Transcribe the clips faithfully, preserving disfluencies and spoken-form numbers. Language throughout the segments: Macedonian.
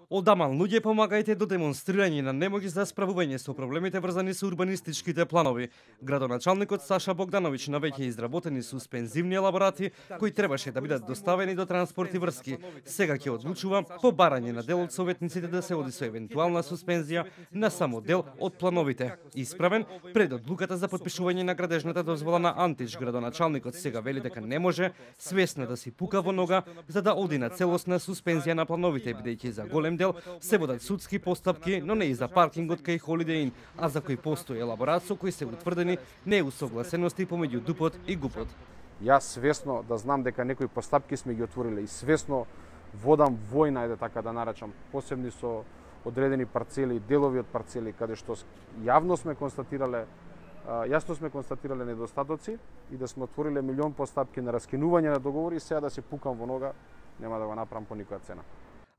Одаман луѓе помагајте до демонстрирање на немоќ за справување со проблемите врзани со урбанистичките планови. Градоначалникот Саша Богдановиќ навеќе изработени суспензивни елаборати кои требаше да бидат доставени до Транспорт и врски. Сега ќе одлучува по барање на дел од советниците да се оди со евентуална суспензија на само дел од плановите. Исправен пред одлуката за подпишување на градежната дозвола на Антич, градоначалникот сега вели дека не може свесно да си пука во нога за да оди на целосна суспензија на плановите, бидејќи за голем дел се водат судски постапки, но не и за паркингот кај Holiday Inn, а за кој постои елаборат со кој се утврдени неусогласености помеѓу ДУП-от и ГУП-от. Јас свесно да знам дека некои постапки сме ги отвориле и свесно водам војна, ајде така да наречам, посебни со одредени парцели, делови од парцели, каде што јавно сме констатирале, јасно сме констатирале недостатоци и да сме отвориле милион постапки на раскинување на договори, сега да се пукам во нога, нема да го направам по никоја цена.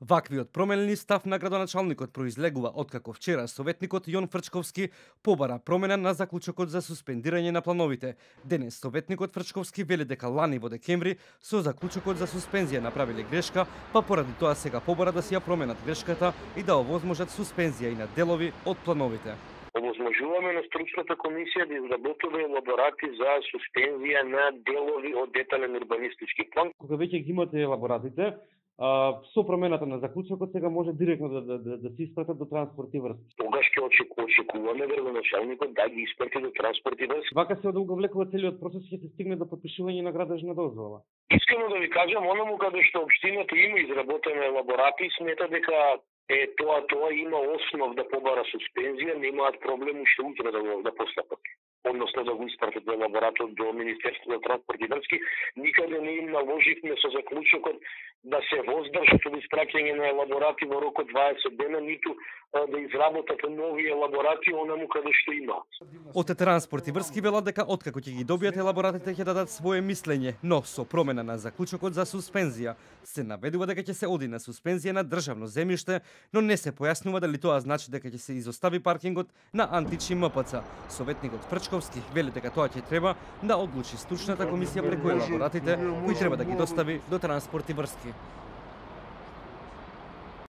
Ваквиот променлив став на градоначалникот произлегува откако вчера советникот Јон Фрчковски побара промена на заклучокот за суспендирање на плановите. Денес советникот Фрчковски вели дека лани во декември со заклучокот за суспензија направиле грешка, па поради тоа сега побара да си ја променат грешката и да овозможат суспензија и на делови од плановите. Овозможуваме на стручната комисија да изработува елаборати за суспензија на делови од детален урбанистички план. Кога веќе ги имате елаборатите, Uh, со промената на заклучокот сега може директно да, да, да, да се испратат до Транспорт и врски. Тогаш ќе очекуваме градоначалникот да ги испрати до Транспорт и врски. Вака се одолговлекува целиот процес и ќе се стигне до подпишување на градежна дозвола. Искрено да ви кажам, онаму каде што општината има изработени елаборати, смета дека е тоа тоа има основ да побара суспензија, немаат проблем уште утре да го да постапат. Односно да го испратат до елаборатот до Министерството за транспорт и врски. Никаде не им наложивме со заклучокот да се воздржат од испраќање на елаборати во рок од дваесет дена, ниту да изработат нови елаборати онаму каде што има. Од Транспорт и врски велат дека откако ќе ги добијат елаборатите ќе дадат свое мислење, но со промена на заклучокот за суспензија се наведува дека ќе се оди на суспензија на државно земјиште, но не се појаснува дали тоа значи дека ќе се изостави паркингот на Антич и М П Ц. Советникот Фрчковски вели дека тоа ќе треба да одлучи стручната комисија преку елаборатите кои треба да ги достави до Транспорт и врски.